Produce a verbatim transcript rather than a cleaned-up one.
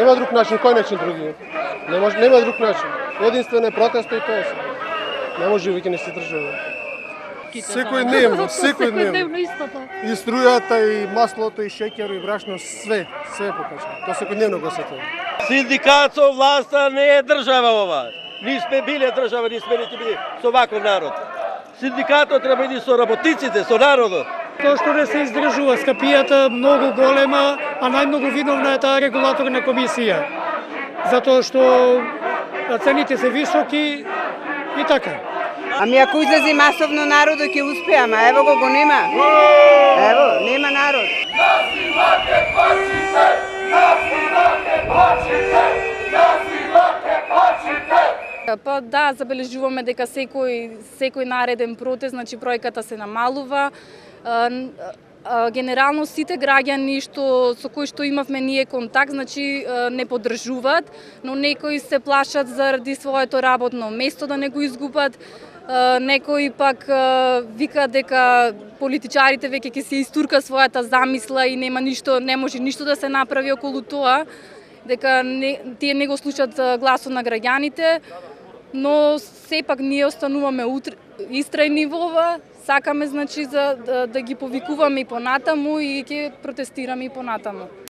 Нема друг начин, кој начин други? Не може, нема друг начин. Единствен е протест и тоа се. Не може веќе не се држава. Секојдневно, секојдневно. И струјата, и маслото, и шеќер, и брашно, све, све покачено. Тоа секојдневно го сетувам. Синдикат со власта не е држава ова. Ние сме биле држава, ние сме не били со ваков народ. Синдикатот треба иди со работниците, со народот. Тоа што не се издржува скапијата многу голема, а најмногу виновна е таа регулаторна комисија. Затоа што цените се високи и така. Ами ако излезе масовно народот ќе успее, ама ево го го нема. Ево, нема народ. Насилаке пачите, насилаке пачите, насилаке пачите. Па да, забележуваме дека секој секој нареден протест, значи бројката се намалува. Генерално сите граѓани што со кои што имавме ние контакт, значи не поддржуваат, но некои се плашат заради своето работно место да не го изгубат. Некои пак вика дека политичарите веќе ќе се истурка својата замисла и нема ништо, не може ништо да се направи околу тоа, дека не, тие не го слушаат гласот на граѓаните, но сепак ние остануваме истрајни во ова, сакаме значи за да, да ги повикуваме и понатаму и ќе протестираме и понатаму.